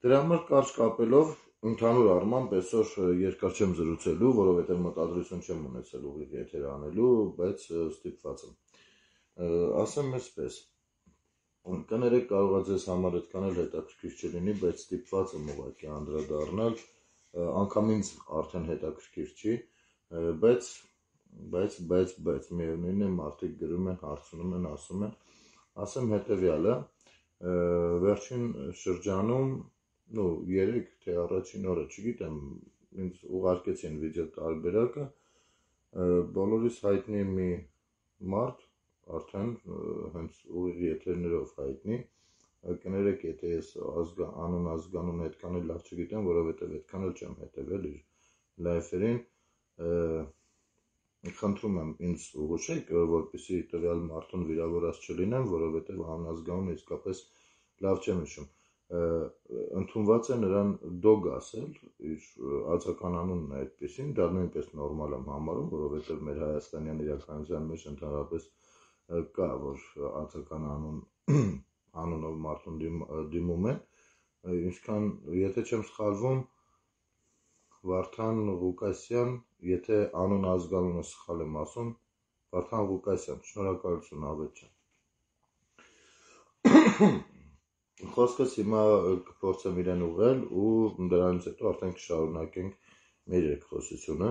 Դրա համար կարճ կապելով ընդհանուր առմամբ այսօր երկար չեմ զրուցելու, որովհետև մտադրություն չեմ ունեցել ուղիղ եթեր անելու, բայց ստիպված եմ։ Ասեմ այսպես, կներեք կարող է ձեզ համար այդքան էլ հետաքրքիր չլինի, բայց ստիպված եմ ուղղակի անդրադառնալ, անգամ ինձ արդեն հետաքրքիր չի, բայց միևնույն է մարդիկ գրում են, հարցնում են, ասեմ հետևյալը, վերջին շրջանում, երեք թե առաջին օրը, չգիտեմ, ինձ ուղարկեցին վիդեո տարբերակը, բոլորիս հայտնի մի մարդ, արդեն հենց ուղիղ եթերներով հայտնի, կներեք, եթե ես անուն ազգանուն այդքան էլ լավ չգիտեմ, որովհետև այդքան էլ չեմ հետևել իր լայֆերին, խնդրում եմ ինձ ուղղեք, որպեսզի տվյալ մարդուն վիրավորած չլինեմ, որովհետև անազգանունը իսկապես լավ չեմ հիշում։ Ընդունված է նրան դոգ ասել, իր ածական անունն է այդպեսին, դա նույնպես նորմալ եմ համարում, որովհետև մեր հայաստանյան իրականության մեջ ընդհանրապես կա, որ ածական անունով մարդուն դիմում են, ինչքան, եթե չեմ սխալվում, Վարդան Ղուկասյան, եթե անուն ազգանունը սխալ եմ ասում, Վարդան Ղուկասյան, շնորհակալություն Ավետ ջան։ Խոսքս հիմա կփորձեմ իրեն ուղղել ու դրանից հետո արդեն կշարունակենք մեր երկխոսությունը։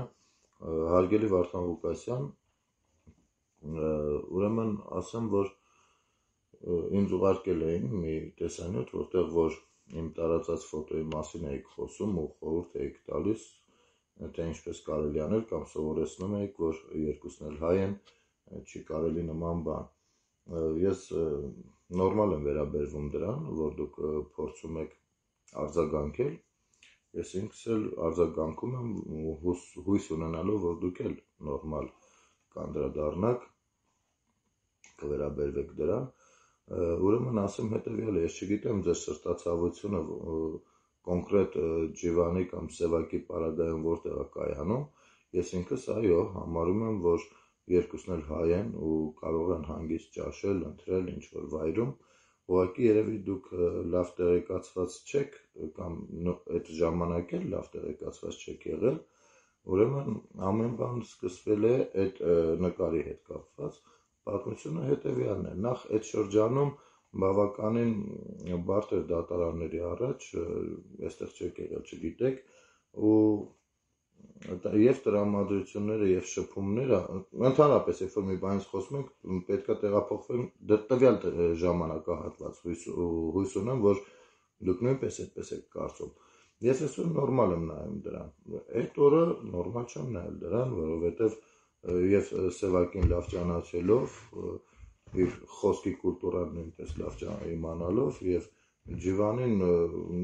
Հարգելի Վարդան Ղուկասյան, ուրեմն ասեմ, որ ինձ ուղարկել էին մի տեսանյութ, որտեղ որ իմ տարածած ֆոտոյի մասին էիք խոսում ու խորհուրդ էիք տալիս, թե ինչպես կարելի անել կամ սովորեցնում էիք, որ երկուսն էլ հայ են, չի կարելի նման բան։ Ես նորմալ եմ վերաբերվում դրան, որ դուք փորձում եք արձագանքել, ես ինքս էլ արձագանքում եմ հույս ունենալով, որ դուք էլ նորմալ կանդրադառնաք, կվերաբերվեք դրան։ Ուրեմն ասեմ հետևյալը, ես չգիտեմ ձեր սրտացավությունը կոնկրետ ջիվանի կամ սևակի պարագայում որտեղ է կայանում, ես ինքս այո համարում եմ, որ երկուսն էլ հայ են ու կարող են հանգիստ ճաշել, ընթրել ինչ-որ վայրում, ուղղակի երևի դուք լավ տեղեկացված չեք կամ այդ ժամանակ էլ լավ տեղեկացված չեք եղել, ուրեմն ամեն բան սկսվել է այդ նկարի հետ կապված, պատմությունը հետևյալն է, նախ այդ շրջանում բավականին բարդ էր դատարանների առաջ, այստեղ չեք եղել, չգիտեք, և տրամադրությունները և շփումները, ընդհանրապես, երբ որ մի բանից խոսում ենք, պետք է տեղափոխվենք տվյալ ժամանակահատված, հույս ունեմ, որ դուք նույնպես այդպես եք կարծում։ Ես այսօր նորմալ եմ նայում դրան, այդ օրը նորմալ չեմ նայել դրան, որովհետև և Սևակին լավ ճանաչելով, իր խոսքի կուլտուրան նույնպես լավ իմանալով և ջիվանին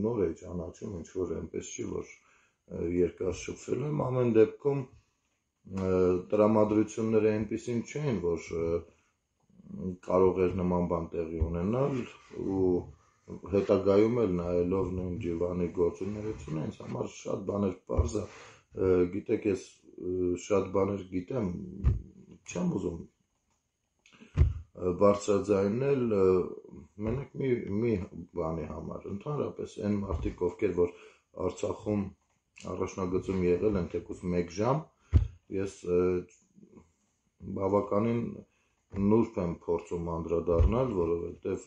նոր է ճանաչում, ինչ-որ այնպես չի, որ երկար շփվել եմ, ամեն դեպքում տրամադրությունները այնպիսին չէին, որ կարող էր նման բան տեղի ունենալ ու հետագայում էլ նայելով նույն ջիվանի գործունեությունը, ինձ համար շատ բաներ պարզ է, գիտեք, ես շատ բաներ գիտեմ, չեմ ուզում բարձրաձայնել, մենակ մի բանի համար, ընդհանրապես այն մարդիկ, ովքեր որ Արցախում առաջնագծում եղել են թեկուզ 1 ժամ, ես բավականին նուրբ եմ փորձում անդրադառնալ, որովհետև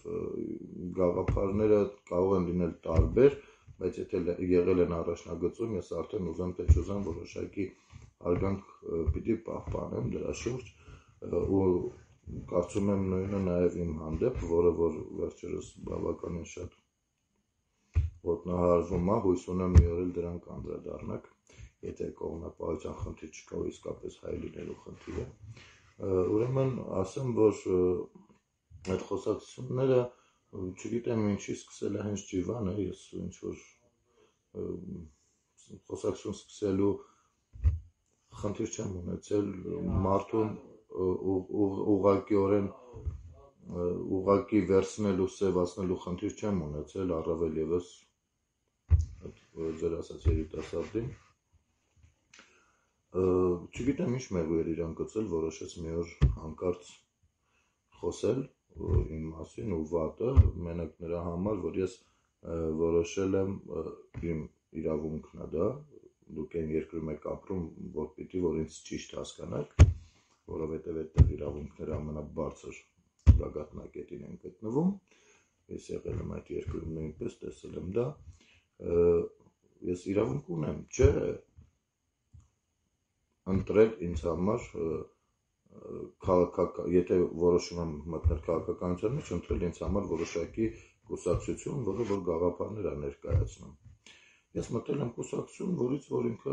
գաղափարները կարող են լինել տարբեր, բայց եթե եղել են առաջնագծում, ես արդեն ուզեմ թե չուզեմ որոշակի արգանք պիտի պահպանեմ դրա շուրջ ու կարծում եմ նույնը նաև իմ հանդեպ, որը որ վերջերս բավականին շատ ոտնահարվում է, հույս ունեմ մի օր էլ դրան կանդրադառնաք, եթե կողմնապահության խնդիր չկա ու իսկապես հայ լինելու խնդիր է։ Ուրեմն ասեմ, որ այդ խոսակցությունները չգիտեմ ինչի սկսել է հենց ջիվանը, ես ինչ-որ խոսակցություն սկսելու խնդիր չեմ ունեցել, մարդուն ուղղակի վերցնելու, սևացնելու խնդիր չեմ ունեցել, առավել ևս ձեր ասած երիտասարդին, չգիտեմ ինչ մեղու էր իրան գծել, որոշեց մի օր հանկարծ խոսել իմ մասին ու վատը, մենակ նրա համար, որ ես որոշել եմ իմ իրավունքն է դա, դուք այն երկրում եք ապրում, որ պիտի որ ինձ ճիշտ հասկանաք, որովհետև այդտեղ իրավունքները ամենաբարձր գագաթնակետին են գտնվում, ես եղել եմ այդ երկրում նույնպես, տեսել եմ դա, ես իրավունք ունեմ, չէ, ընտրել ինձ համար եթե որոշում եմ մտնել քաղաքականության մեջ, ընտրել ինձ համար որոշակի կուսակցություն, որը որ գաղափարներ է ներկայացնում։ Ես մտել եմ կուսակցություն, որից որ ինքը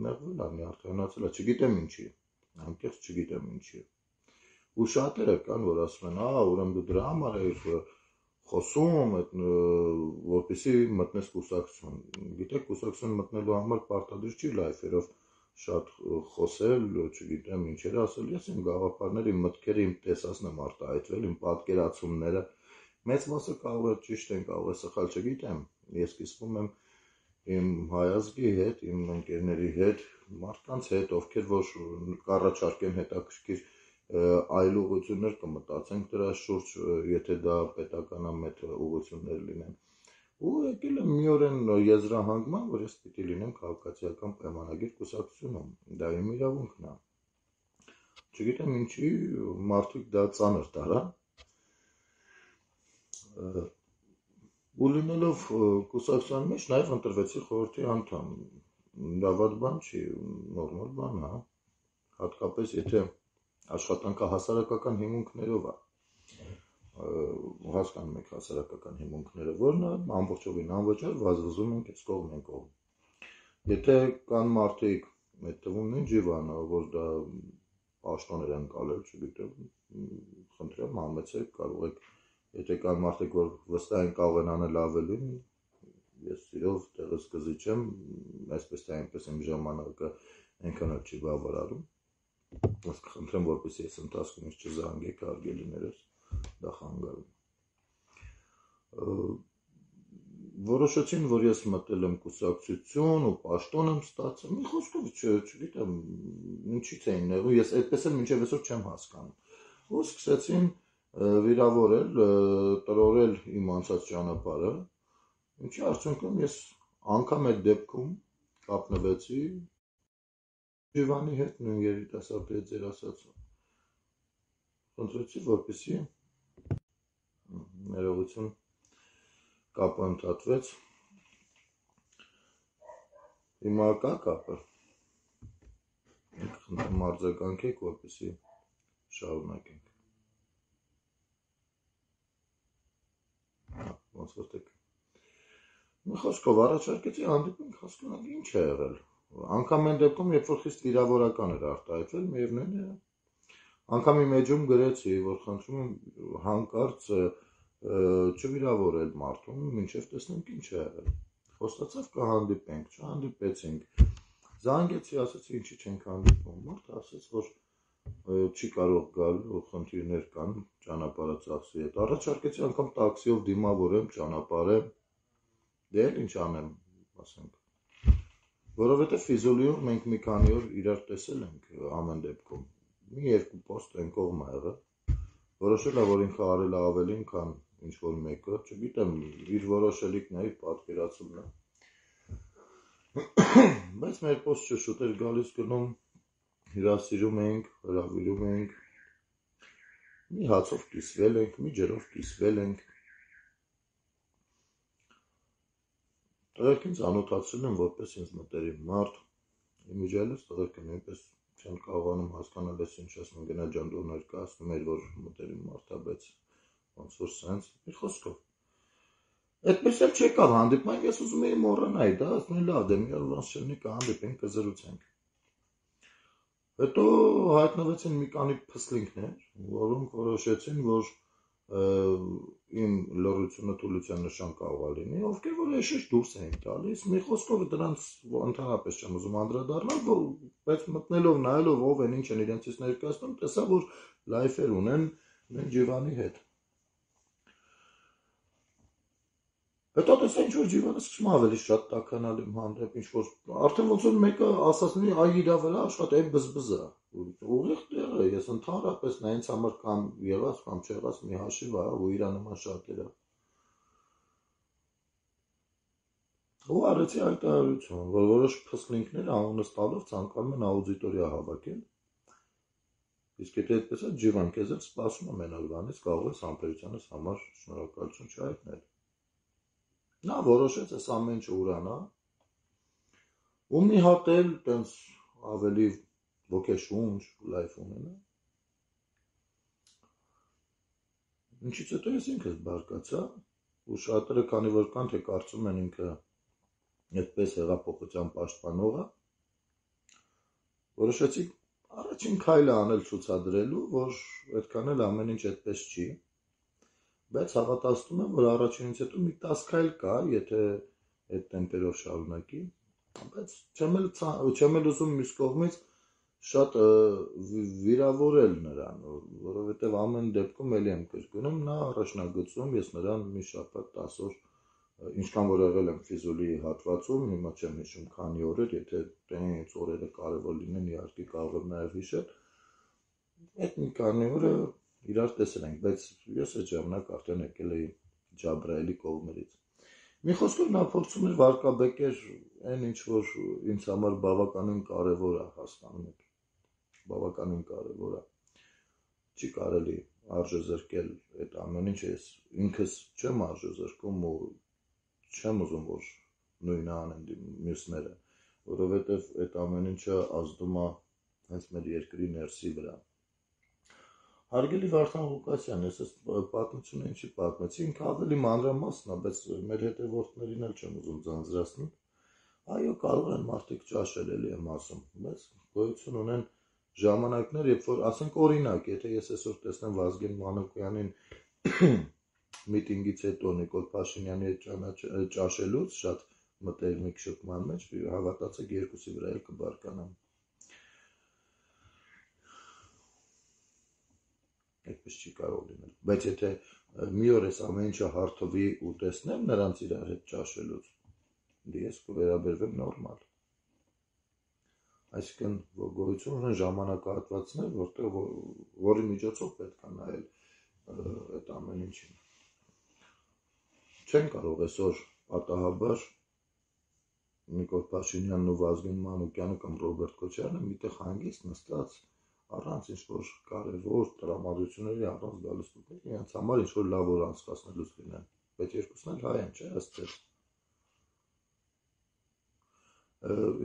նեղվել է, նյարդայնացել է, չգիտեմ ինչի, անկեղծ չգիտեմ ինչի։ Ու շատերը կան, որ ասում են, ուրեմն դու դրա համար ես խոսում, որպեսզի մտնես կուսակցություն։ Գիտեք, կուսակցություն մտնելու համար պարտադիր չի լայֆերով շատ խոսել, չգիտեմ ինչեր ասել, ես իմ գաղափարները, իմ մտքերը, իմ տեսածն եմ արտահայտվել, իմ պատկերացումները, մեծ մասը կարող է ճիշտ են, կարող է սխալ, չգիտեմ, ես կիսվում եմ իմ հայազգի հետ, իմ ընկերների հետ, մարդկանց հետ, ովքեր որ կառաջարկեն հետաքրքիր այլ ուղղություններ կմտածենք դրա շուրջ, եթե դա պետականամետ ուղղություններ լինեն։ Ու եկել եմ մի օրեն եզրահանգման, որ ես պիտի լինեմ քաղաքացիական պայմանագիր կուսակցությունում, դա իմ իրավունքն է։ Չգիտեմ ինչի մարդիկ դա ծանր տարան։ Ու լինելով կուսակցության մեջ նաև ընտրվեցի խորհրդի անդամ։ Դա վատ բան չի, նորմալ բան է, հատկապես եթե աշխատանքը հասարակական հիմունքներով է։ Հասկանում եք հասարակական հիմունքները, որն է ամբողջովին անվճար վազվզում ենք այս կողմ են կողմ։ Եթե կան մարդիկ, այդ թվում նույն Ջիվանը, որ դա պաշտոներ են կալել, չգիտեմ, խնդրեմ համեցեք, կարող եք, եթե կան մարդիկ, որ վստահ են կարող են անել ավելին, ես սիրով տեղս կզիջեմ, այսպես թե այնպես իմ ժամանակը այնքան էլ չի բավարարում։ Ես կխնդրեմ, որպեսզի այս ընթացքում ինձ չզանգեք հարգելիներս, դա խանգարում։ Որոշեցին, որ ես մտել եմ կուսակցություն ու պաշտոն եմ ստացել, մի խոսքով չգիտեմ, ինչից էին նեղում, ես այդպես էլ մինչև այսօր չեմ հասկանում։ Ու սկսեցին վիրավորել, տրորել իմ անցած ճանապարհը, ինչի արդյունքում ես անգամ այդ դեպքում կապնվեցի Ջիվանի հետ, նույն երիտասարդի հետ ձեր ասած, խնդրեցի, որպեսզի ներողություն կապը ընդհատվեց, հիմա կա կապը, խնդրեմ արձագանքեք, որպեսզի շարունակենք, ոնց որ տեք, մի խոսքով առաջարկեցի հանդիպենք, հասկանանք ինչ է եղել, անգամ այն դեպքում, երբ որ խիստ վիրավորական էր արտահայտվել, միևնույն է, անգամ իմ էջում գրեցի, որ խնդրում եմ հանկարծ չվիրավորել մարդուն, մինչև տեսնենք ինչ է եղել, խոստացավ կհանդիպենք, չհանդիպեցինք, զանգեցի, ասացի ինչի չենք հանդիպում, մարդը ասաց, որ չի կարող գալ, խնդիրներ կան, ճանապարհը ծախսի հետ, առաջարկեցի անգամ տաքսիով դիմավորեմ, ճանապարհեմ, դե էլ ինչ անեմ, ասենք, որովհետև Ֆիզուլիում մենք մի քանի օր իրար տեսել ենք ամեն դեպքում, մի երկու պոստ են կողմ ա եղել, որոշել է, որ ինքը արել է ավելին, քան ինչ որ մեկը, չգիտեմ, իր որոշելիքն է, իր պատկերացումն է, բայց մեր պոստը շուտ էր գալիս գնում, հյուրասիրում ենք, հրավիրում ենք, մի հացով կիսվել ենք, մի ջրով կիսվել ենք, տղերք ինձ անօթացրել են, որպես ինձ մտերիմ մարդ, իմիջիալից տղերքը նույնպես չեն կարողանում հասկանալ, ես ինչ ասում, գնա ջան դու ներկայացնում էր, որ մտերիմ մարդ է, բայց ոնց որ սենց, մի խոսքով։ Այդպես էլ չեկավ հանդիպման, ես ուզում էի մոռանալ դա, ասում եմ լավ, դե մի օր ոնց չլինի կհանդիպենք, կզրուցենք։ Հետո հայտնվեցին մի քանի փսլինքներ, որոնք որոշեցին, որ իմ լռությունը թուլության նշան կարող է լինի, ովքեր որ էշեշ դուրս էին տալիս, մի խոսքով դրանց ընդհանրապես չեմ ուզում անդրադառնալ, բայց մտնելով նայելով ով են, ինչ են իրենցից ներկայացնում, տեսա, որ լայֆեր ունեն նույն Ջիվանի հետ։ Հետո տեսա ինչ որ Ջիվանը սկսում ավելի շատ տաքանալ իմ հանդեպ, ինչ որ արդեն ոնց որ մեկը ասած լինի, այ իրա վրա աշխատի, այ բզբզա։ Ուղիղ տեղ է, ես ընդհանրապես նա ինձ համար կամ եղած կամ չեղած մի հաշիվ է, ու իրա նման շատերը։ Ու արեցի հայտարարություն, որ որոշ փսկնիկներ անունս տալով ցանկանում են աուդիտորիա հավաքել։ Իսկ եթե այդպես է, Ջիվան, քեզ էլ սպասում եմ այն օրվանից, կարող ես համբերությանս համար շնորհակալություն չհայտնել։ Նա որոշեց այս ամեն ինչը ուրանա, ու մի հատ էլ տենց ավելի ոգեշունչ լայֆ ունենա։ Ինչից հետո ես ինքս բարկացա, ու շատերը, քանի որ կան, թե կարծում են ինքը այդպես հեղափոխության պաշտպանողը, որոշեցի առաջին քայլը անել ցուցադրելու, որ այդքան էլ ամեն ինչ այդպես չի, բայց հավատացնում եմ, որ առաջինից հետո մի 10 քայլ կա, եթե այդ տեմպերով շարունակի, բայց չեմ էլ ուզում մյուս կողմից շատ վիրավորել նրան, որովհետև ամեն դեպքում էլի եմ կրկնում, նա առաջնագծում, ես նրան մի շաբաթ 10 օր, ինչքան որ եղել եմ Ֆիզուլի հատվածում, հիմա չեմ հիշում քանի օրեր, եթե տենց օրերը կարևոր լինեն, իհարկե կարող եմ նաև հիշել, այդ մի քանի օրը իրար տեսել ենք, բայց ես այդ ժամանակ արդեն եկել էի Ջաբրայելի կողմերից։ Մի խոսքով նա փորձում էր վարկաբեկեր այն ինչ որ ինձ համար բավականին կարևոր է, հասկանում եք, բավականին կարևոր է, չի կարելի արժեզրկել այդ ամեն ինչ, ես ինքս չեմ արժեզրկում ու չեմ ուզում, որ նույնը անեն մյուսները, որովհետև այդ ամեն ինչը ազդում է հենց մեր երկրի ներսի վրա։ Հարգելի Վարդան Ղուկասյան, ես այս պատմությունը ինչի պատմեցի, ինքը ավելի մանրամասն է, բայց մեր հետևորդներին էլ չեմ ուզում ձանձրացնել։ Այո, կարող են մարդիկ ճաշել, էլի եմ ասում, բայց գոյություն ունեն ժամանակներ, երբ որ, ասենք օրինակ, եթե ես այսօր տեսնեմ Վազգեն Մանուկյանին միտինգից հետո Նիկոլ Փաշինյանի հետ ճաշելուց, շատ մտերմիկ շփման մեջ, հավատացեք, երկուսի վրա էլ կբարկանամ։ Այդպես չի կարող լինել, բայց եթե մի օր այս ամեն ինչը հարթվի ու տեսնեմ նրանց իրար հետ ճաշելուց, ես կվերաբերվեմ նորմալ։ Այսինքն գոյություն ունեն ժամանակահատվածներ, որի միջոցով պետք է նայել այդ ամեն ինչին։ Չեն կարող այսօր պատահաբար Նիկոլ Փաշինյանն ու Վազգեն Մանուկյանը կամ Ռոբերտ Քոչարյանը միտեղ հանգիստ նստած առանց ինչ-որ կարևոր տրամադրությունների առանց գալուց իրենց համար ինչ-որ լավ օր անցկացնելուց լինեն, բայց երկուսն էլ հայ են, չէ՞, ասես։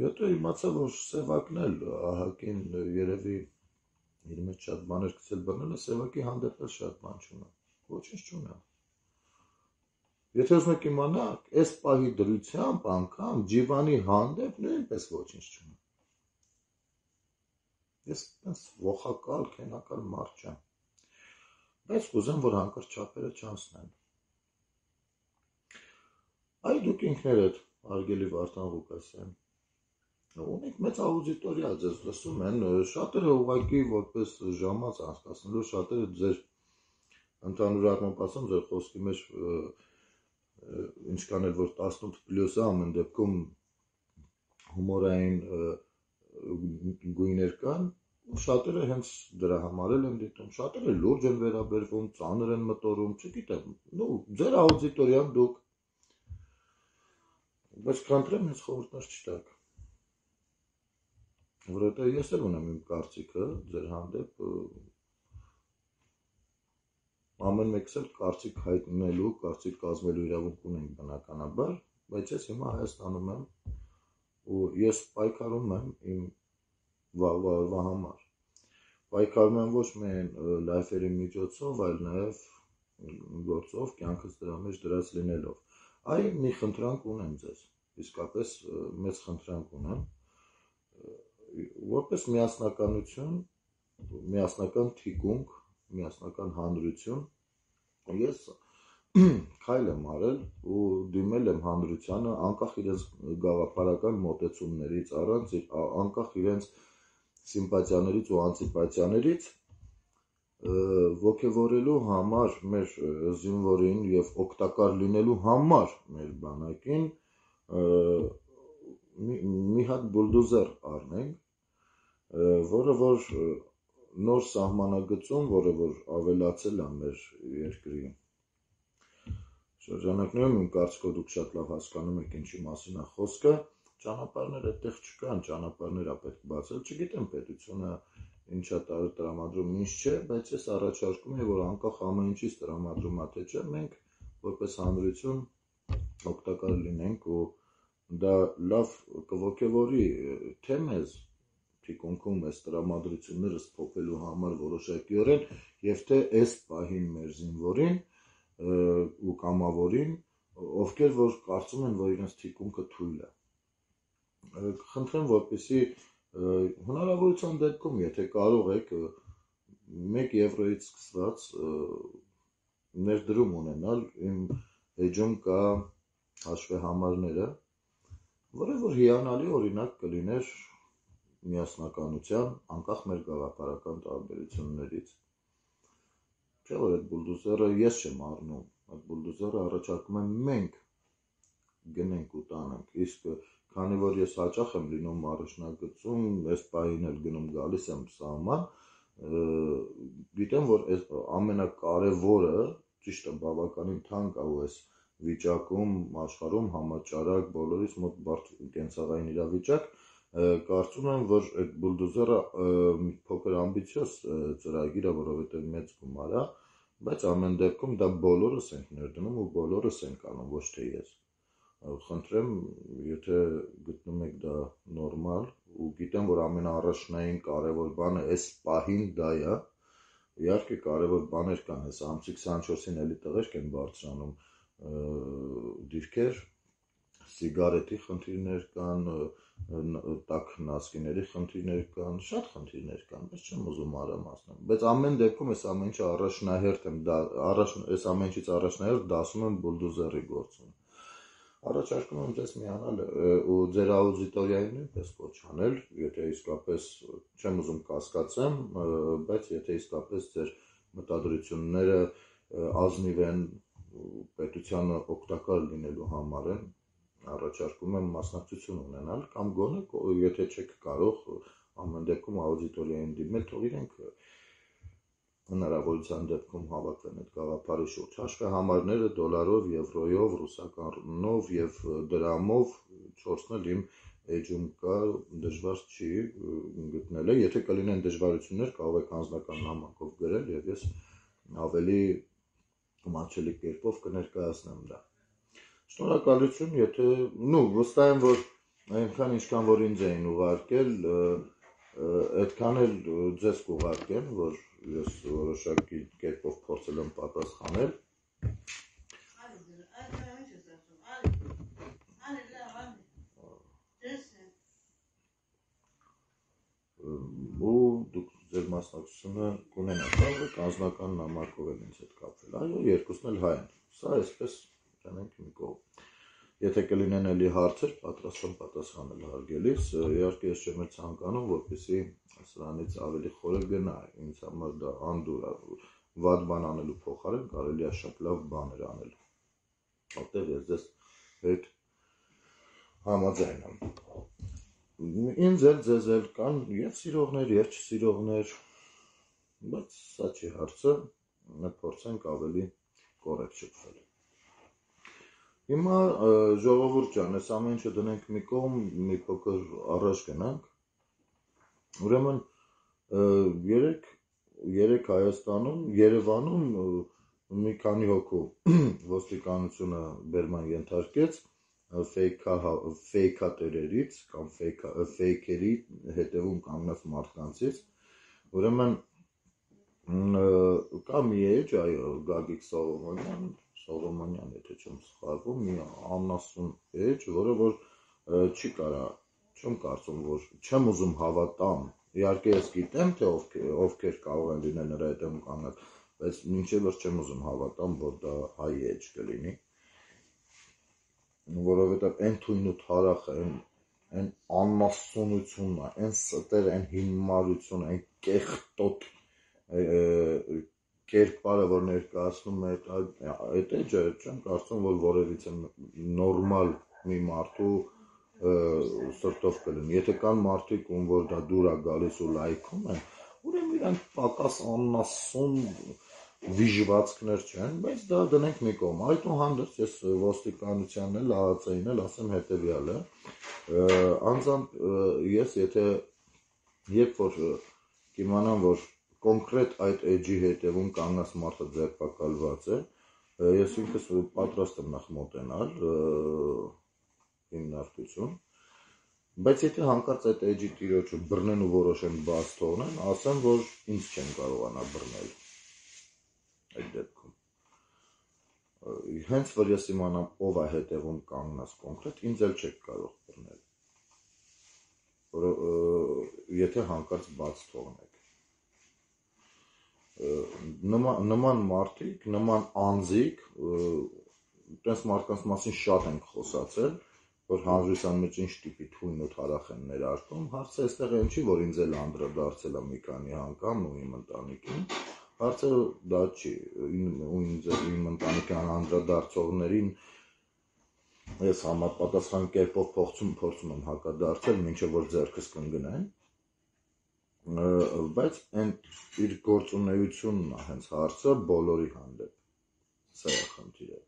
Հետո իմացա, որ Սևակն էլ ահագին երևի իր մեջ շատ բաներ գցել բռնել է, Սևակի հանդեպ էլ շատ բան չունա, ոչինչ չունա։ Եթե ուզում եք իմանալ, այս պահի դրությամբ անգամ Ջիվանի հանդեպ նույնպես ոչինչ չունա։ Ես տես ողակալ, քենակալ մարդ չեմ, բայց կուզեմ, որ հանկարծ չափերը չանցնեն։ Այ դուք ինքներդ, հարգելի Վարդան Ղուկասյան, ունեք մեծ աուդիտորիա, ձեզ լսում են, շատերը ուղղակի որպես ժամանց անցկացնելու, շատերը ձեր ընդհանուր առմամբ ասեմ, ձեր խոսքի մեջ ինչքան էլ որ 18+ ամեն դեպքում հումորային գույներ կան, շատերը հենց դրա համար են դիտում, շատերը լուրջ են վերաբերվում, ծանր են մտորում, չգիտեմ, ձեր աուդիտորիան դուք, բայց խնդրեմ ինձ խորհուրդներ չտաք, որովհետև ես էլ ունեմ իմ կարծիքը ձեր հանդեպ, ամեն մեկս էլ կարծիք հայտնելու, կարծիք կազմելու իրավունք ունենք բնականաբար, բայց ես հիմա Հայաստանում եմ ու ես պայքարում եմ իմ վաղվա օրվա համար, պայքարում եմ ոչ միայն լայֆերի միջոցով, այլ նաև գործով, կյանքս դրա մեջ դրած լինելով։ Այ մի խնդրանք ունեմ ձեզ, իսկապես մեծ խնդրանք ունեմ, որպես միասնականություն, միասնական թիկունք, միասնական հանրություն, ես քայլ եմ արել ու դիմել եմ հանրությանը, անկախ իրենց գաղափարական մոտեցումներից, անկախ իրենց սիմպաթիաներից ու անտիպաթիաներից, ոգևորելու համար մեր զինվորին և օգտակար լինելու համար մեր բանակին մի հատ բուլդոզեր առնենք, որը որ նոր սահմանագծում, որը որ ավելացել է մեր երկրի Շրջանակներում իմ կարծիքով դուք շատ լավ հասկանում եք ինչի մասին է խոսքը, ճանապարհներ այդտեղ չկան, ճանապարհներ է պետք բացել, չգիտեմ պետությունը ինչա տրամադրում, ինչ չէ, բայց ես առաջարկում եմ, որ անկախ ամեն ինչից տրամադրում է թե չէ, մենք որպես հանրություն օգտակար լինենք ու դա լավ կողոքեվորի թե մեզ թիկունքում այս տրամադրությունները փոխելու համար որոշակիորեն եւ թե այս պահին մեր զինվորին ու կամավորին, ովքեր որ կարծում են, որ իրենց թիկունքը թույլ է։ Խնդրեմ, որպեսզի հնարավորության դեպքում, եթե կարող եք 1 եվրոյից սկսված ներդրում ունենալ, իմ էջում կա հաշվեհամարները, որը որ հիանալի օրինակ կլիներ միասնականության, անկախ մեր գաղափարական տարբերություններից։ Չէ՞ որ այդ բուլդոզերը ես չեմ առնում, այդ բուլդոզերը առաջարկում եմ մենք գնենք ու տանենք, իսկ քանի որ ես հաճախ եմ լինում առաջնագծում, այս պահին էլ գնում գալիս եմ սահման, գիտեմ, որ այս ամենակարևորը, ճիշտ է, բավականին թանկ է ու այս վիճակում աշխարհում համաճարակ բոլորից մոտ բարդ կենցաղային իրավիճակ, կարծում եմ, որ այդ բուլդոզերը մի փոքր ամբիցիոզ ծրագիր է, որովհետև մեծ գումար է, բայց ամեն դեպքում դա բոլորս ենք ներդնում ու բոլորս ենք անում, ոչ թե ես։ Խնդրեմ, եթե գտնում եք դա նորմալ ու գիտեմ, որ ամենաառաջնային կարևոր բանը այս պահին դա է, իհարկե կարևոր բաներ կան, այս ամսի 24-ին էլի տղերք են բարձրանում դիրքեր, սիգարետի խնդիրներ կան, տաք նասկիների խնդիրներ կան, շատ խնդիրներ կան, բայց չեմ ուզում մանրամասնել, բայց ամեն դեպքում այս ամեն ինչը առաջնահերթ եմ, այս ամեն ինչից առաջնահերթ դասում եմ բուլդոզերի գործում։ Առաջարկում եմ ձեզ միանալ ու ձեր աուդիտորիային նույնպես կոչ անել, եթե իսկապես չեմ ուզում կասկածեմ, բայց եթե իսկապես ձեր մտադրությունները ազնիվ են պետությանը օգտակար լինելու համար են, առաջարկում եմ մասնակցություն ունենալ կամ գոնե եթե չեք կարող ամեն դեպքում աուդիտորիային դիմել, թող իրենք հնարավորության դեպքում հավաքվեն այդ գաղափարի շուրջ։ Հաշվեհամարները դոլարով, եվրոյով, ռուսականով եւ դրամով 4-ն էլ իմ էջում կա, դժվար չի գտնելը, եթե կլինեն դժվարություններ, կարող եք անձնական նամակով գրել եւ ես ավելի մատչելի կերպով կներկայացնեմ դա։ Շնորհակալություն, եթե, վստահ եմ, որ այնքան ինչքան որ ինձ էին ուղարկել, այդքան էլ ձեզ կուղարկեն, որ ես որոշակի կերպով փորձել եմ պատասխանել։ Ու դուք ձեր մասնակցությունը կունենաք, կարող եք անձնական նամակով էլ ինձ հետ կապվել, այո, երկուսն էլ հայ են, սա այսպես տանենք մի կողմ։ Եթե կլինեն էլի հարցեր, պատրաստ եմ պատասխանել հարգելիս, իհարկե ես չեմ ցանկանում, որպեսզի սրանից ավելի խորը գնա, ինձ համար դա անդուր է, վատ բան անելու փոխարեն կարելի է շատ լավ բաներ անել։ Որտեղ ես ձեզ հետ համաձայն եմ։ Ինձ էլ ձեզ էլ կան եւ սիրողներ եւ չսիրողներ, բայց սա չի հարցը, փորձենք ավելի կոռեկտ շփվել։ Հիմա ժողովուրդ ջան, այս ամեն ինչը դնենք մի կողմ, մի փոքր առաջ գնանք։ Ուրեմն երեք Հայաստանում, Երևանում մի քանի հոգու ոստիկանությունը բերման ենթարկեց ֆեյքատերերից կամ ֆեյքերի հետևում կանգնած մարդկանցից, ուրեմն կա մի էջ, այո, Գագիկ Սողոմոնյան, եթե չեմ սխալվում, մի անասուն էջ, որը որ չի կարա, չեմ կարծում, որ չեմ ուզում հավատամ, իհարկե ես գիտեմ, թե ովքեր կարող են լինել նրա հետևում կանգնած, բայց մինչև որ չեմ ուզում հավատամ, որ դա հայ էջ կլինի, որովհետև այն թույն ու թարախը, այն անմասսոնությունը, այն ստերը, այն հիմարությունը, այն կեղտոտ կերպարը, որ ներկայացնում է այդ էջը, չեմ կարծում, որ որևիցե նորմալ մի մարդու սրտով կլինի։ Եթե կան մարդիկ, ում որ դա դուր է գալիս ու լայքում են, ուրեմն իրանք պակաս աննասուն վիժվածքներ չեն, բայց դա դնենք մի կողմ։ Այդուհանդերձ ես ոստիկանությանն էլ ԱԱՑ-ին էլ ասեմ հետևյալը, անձամբ ես եթե երբ որ կիմանամ, որ կոնկրետ այդ էջի հետևում կանգնած մարդը ձերբակալված է, ես ինքս պատրաստ եմ նախ մոտենալ հիմնարկություն, բայց եթե հանկարծ այդ էջի տիրոջը բռնեն ու որոշեն բաց թողնեն, ասեմ, որ ինձ չեն կարողանա բռնել այդ դեպքում։ Հենց որ ես իմանամ ով է հետևում կանգնած կոնկրետ, ինձ էլ չեք կարող բռնել, եթե հանկարծ բաց թողնեք։ Նման մարդիկ, նման անձիկ, տես մարդկանց մասին շատ ենք խոսացել, որ հանրության մեջ ինչ տիպի թույն ու թարախ են ներարկում, հարցը այստեղ այն չի, որ ինձ էլ անդրադարձել է մի քանի անգամ ու իմ ընտանիքին, հարցը դա չի, ու իմ ընտանիքին անդրադարձողներին ես համապատասխան կերպով փորձում եմ հակադարձել, մինչև որ ձեռքս կընկնեն, բայց այն իր գործունեությունն է հենց հարցը բոլորի հանդեպ, սա է խնդիրը։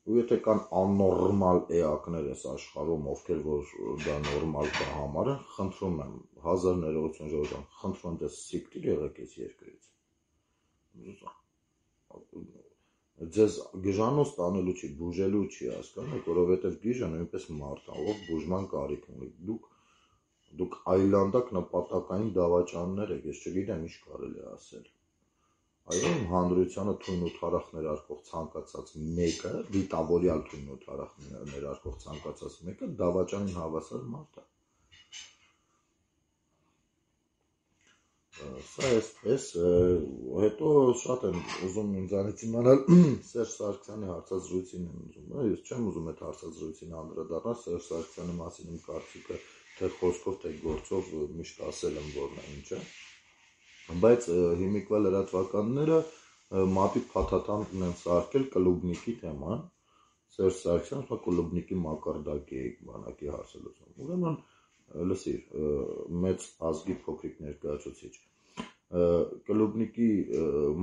Ու եթե կան աննորմալ էակներ այս աշխարհում, ովքեր որ դա նորմալ կա համարեն, խնդրում եմ, 1000 ներողություն ժողովուրդ, խնդրում եմ դες սիկտիր եղեք այս երկրից։ Ձեզ գժանոց տանելու չի, բուժելու չի, հասկանաք, որովհետև գիժը նույնպես մարդ է, ով բուժման կարիք ունի։ Դուք այլանդակ նպատակային դավաճաններ եք, ես չգիտեմ ինչ կարելի է ասել։ Այո, հանրությանը թույն ու թարախ ներարկող ցանկացած մեկը, դիտավորյալ թույն ու թարախ ներարկող ցանկացած մեկը դավաճանին հավասար մարդ է։ Սա էսպես, հետո շատ եմ ուզում ինձանից իմանալ Սերժ Սարգսյանի հարցազրույցին եմ ուզում, ես չեմ ուզում այդ հարցազրույցին անդրադառնալ, Սերժ Սարգսյանի մասին իմ կարծիքը թե խոսքով, թե գործով միշտ ասել եմ, որն է ինչը, բայց հիմիկվա լրատվականները մատի փաթաթան ունեն սարքել Կլուբնիկի թեման, Սերժ Սարգսյանը Կլուբնիկի մակարդակի բանակի հարցազրույցում, ուրեմն լսիր, մեծ ազգի փոքրիկ ներկայացուցիչ, Կլուբնիկի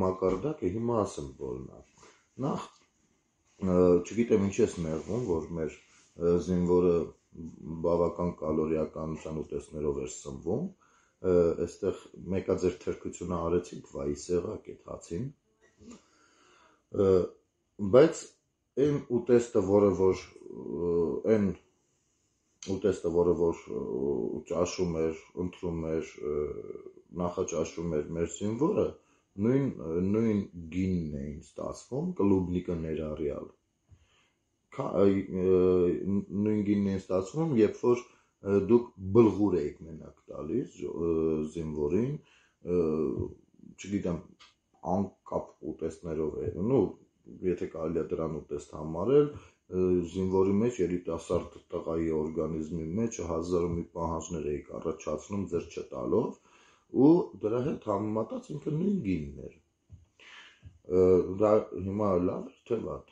մակարդակը հիմա ասեմ որն է, նախ չգիտեմ ինչ ես նեղվում, որ մեր զինվորը բավական կալորիականության ուտեստներով էր սնվում, այստեղ մեկա ձեր թրքությունը արեցիք, վայի սեղակ այդ հացին, բայց այն ուտեստը, որը որ ճաշում էր, ընտրում էր, նախաճաշում էր մեր զինվորը, նույն գինն էին ստացվում, Կլուբնիկը ներառյալ, նույն գինն էին ստացվում, երբ որ դուք բլղուր եք մենակ տալիս զինվորին, չգիտեմ, անկապ ուտեստներով է, եթե կարելի է դրան ուտեստ համարել, զինվորի մեջ երիտասարդ տղայի օրգանիզմի մեջ 1000 ու մի պահանջներ էիք առաջացնում ձեր չտալով, ու դրա հետ համեմատած ինքը նույն գինն էր, դա հիմա լավ էր թե վատ,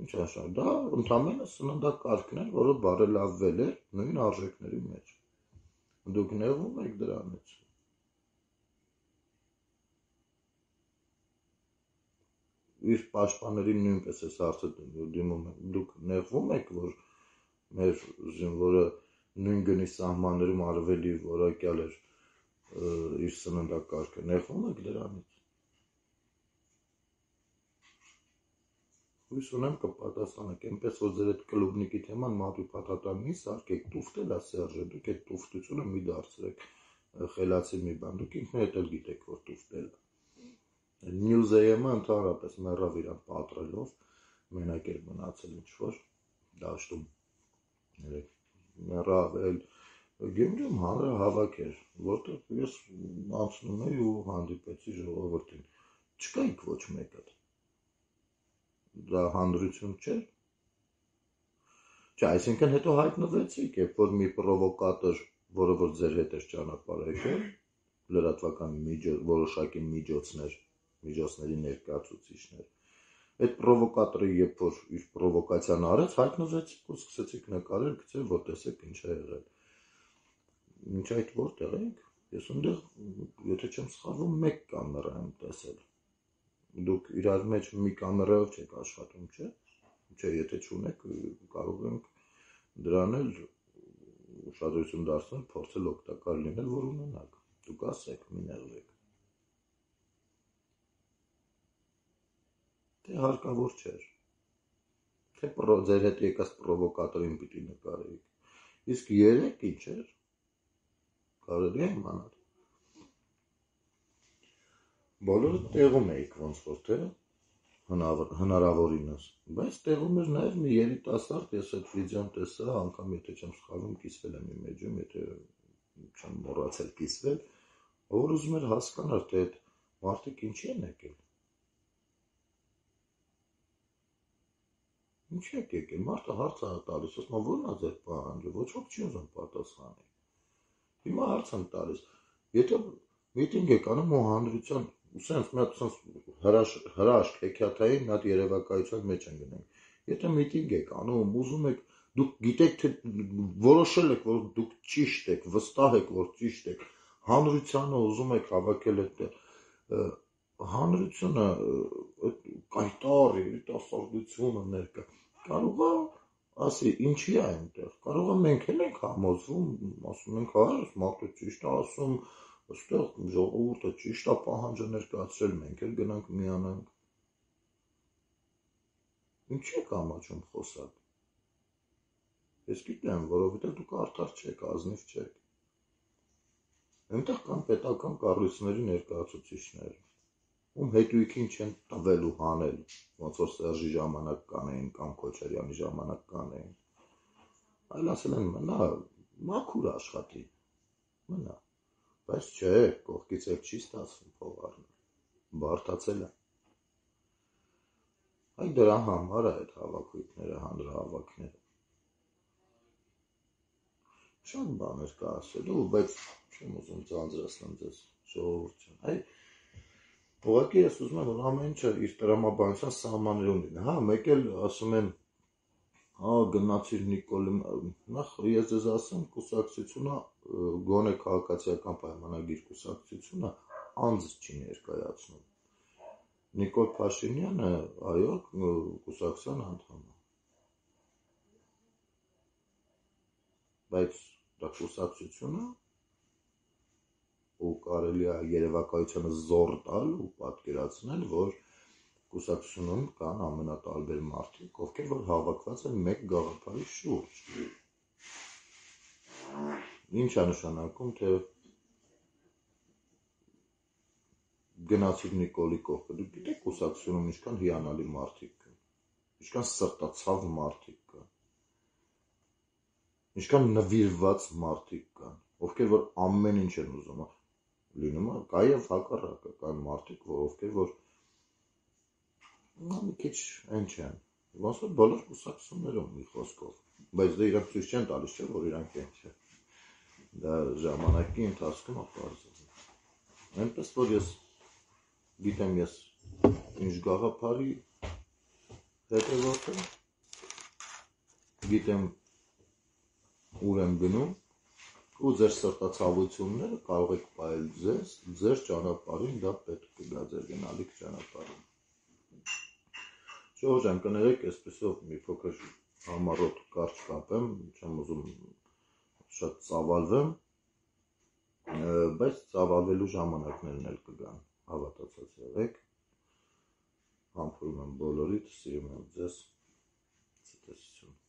ինչ ասա, դա ընդամենը սննդակարգն էր, որը բարելավվել էր նույն արժեքների մեջ, դուք նեղվում եք դրանից, իր պաշտպաններին նույնպես այս հարցը դիմում եմ, դուք նեղվում եք, որ մեր զինվորը նույն գնի սահմաններում ավելի որակյալ էր իր սննդակարգը, նեղվում եք դրանից։ Հույս ունեմ կպատասխանեք, այնպես որ ձեր այդ Կլուբնիկի թեման մատի փաթաթան մի սարքեք, տուֆտել է Սերժը, դուք այդ տուֆտությունը մի դարձրեք խելացի մի բան, դուք ինքներդ էլ գիտեք, որ տուֆտել է։ Մյուզեյմը ընդհանրապես մեռավ իրան պատրելով, մենակ էր մնացել ինչ-որ դաշտում, մեռավ էլ, Գյումրիում հանրահավաք էր, որտեղ ես անցնում էի ու հանդիպեցի ժողովրդին, չկայիք ոչ մեկը, դա հանրություն չէր, չէ, այսինքն հետո հայտնվեցիք, երբ որ մի պրովոկատոր, որը որ ձեր հետ էր ճանապարհ եկել, լրատվական որոշակի միջոցների ներկայացուցիչներ, այդ պրովոկատորը երբ որ իր պրովոկացիան արեց, հայտնվեցիք ու սկսեցիք նկարել, գցել, որ տեսեք ինչ է եղել, ինչ այդ որտեղ եք, ես ընդեղ, եթե չեմ սխալվում, մեկ կամերա եմ տեսել, դուք իրար մեջ մի կամերայով չեք աշխատում, չէ՞։ Չէ, եթե չունեք, կարող ենք դրան էլ ուշադրություն դարձնել, փորձել օգտակար լինել, որ ունենաք։ Դուք ասեք, մի նեղվեք։ Թե հարկավոր չէր։ Թե ձեր հետ եկած պրովոկատորին պիտի նկարեիք։ Իսկ երեք ինչ էր։ Կարելի է իմանալ։ Բոլորը տեղում էիք ոնց որ թե հնարավորինս, բայց տեղում էր նաև մի երիտասարդ, ես այդ վիդեոն տեսա, անգամ եթե չեմ սխալվում, կիսվել եմ իմ էջում, եթե չեմ մոռացել կիսվել, որ ուզում էր հասկանալ, թե այդ մարդիկ ինչի են եկել։ Ինչի եք եկել, մարդը հարց է տալիս, ասում է ո՞րն է ձեր պահանջը, ոչ ոք չի ուզում պատասխանի։ Հիմա հարց եմ տալիս, եթե միտինգ եք անում ու հանրության սենց մի հատ հրաշք հեքիաթային մի հատ երևակայության մեջ են գնենք։ Եթե միտինգ եք անում, ուզում եք, դուք գիտեք, թե որոշել եք, որ դուք ճիշտ եք, վստահ եք, որ ճիշտ եք, հանրությանը ուզում եք հավաքել այդտեղ, հանրությունը կայտար երիտասարդությունը ներկա, կարող է ասի, ինչի է այնտեղ, կարող է մենք էլ ենք համոզվում, ասում ենք, հա, մարդը ճիշտ է ասում, այստեղ ժողովուրդը ճիշտ է պահանջը ներկայացրել, մենք էլ գնանք միանանք։ Ինչի եք ամաչում խոսալ։ Ես գիտեմ, որովհետև դուք արդար չեք, ազնիվ չեք։ Այնտեղ կան պետական կառույցների ներկայացուցիչներ, ում հետույքին չեն տվել ու հանել, ոնց որ Սերժի ժամանակ կանեին կամ Քոչարյանի ժամանակ կանեին։ Այլ ասել են մնա, մաքուր աշխատի, մնա, բայց չէ, կողքից էլ չի ստացվում փող առնել, բարդացել է։ Այ դրա համար է այդ հավաքույթները, հանրահավաքները։ Շատ բաներ կա ասելու, բայց չեմ ուզում ձանձրացնել ձեզ, ժողովուրդ ջան։ Այ ուղղակի ես ուզում եմ, որ ամեն ինչը իր տրամաբանության սահմաններում լինի։ Հա, մեկ էլ ասում են, հա, գնացիր Նիկոլի, նախ ես ձեզ ասեմ, կուսակցությունը, գոնե քաղաքացիական պայմանագիր կուսակցությունը անձ չի ներկայացնում։ Նիկոլ Փաշինյանը, այո, կուսակցության անդամ է։ Բայց դա կուսակցությունը ու կարելի է երևակայությանը զոռ տալ ու պատկերացնել, որ կուսակցությունում կան ամենատարբեր մարդիկ, ովքեր որ հավաքված են մեկ գաղափարի շուրջ։ Ինչ է նշանակում, թե գնացիր Նիկոլի կողքը, դուք գիտեք կուսակցությունում ինչքան հիանալի մարդիկ կան, ինչքան սրտացավ մարդիկ կան, ինչքան նվիրված մարդիկ կան, ովքեր որ ամեն ինչ են ուզում, լինում է, կա եւ հակառակը, կան մարդիկ, ովքեր որ մի քիչ այն չեն, ոնց որ բոլոր կուսակցություններում մի խոսքով, բայց դա իրանք ցույց չեն տալիս, չէ, որ իրանք են չէ, դա ժամանակի ընթացքում ապարզվում։ Այնպես որ ես գիտեմ ես ինչ գաղափարի հետևորդ եմ, գիտեմ ուր եմ գնում ու ձեր սրտացավությունները կարող եք պահել ձեր ճանապարհին, դա պետք կգա ձեր գնալիք ճանապարհին։ Ժողովուրդ ջան, կներեք, այսպեսով մի փոքր համառոտ կարճ կապեմ, չեմ ուզում շատ ծավալվեմ, բայց ծավալվելու ժամանակներն էլ կգան, հավատացած եղեք, համբուրում եմ բոլորիդ, սիրում եմ ձեզ, ցտեսություն։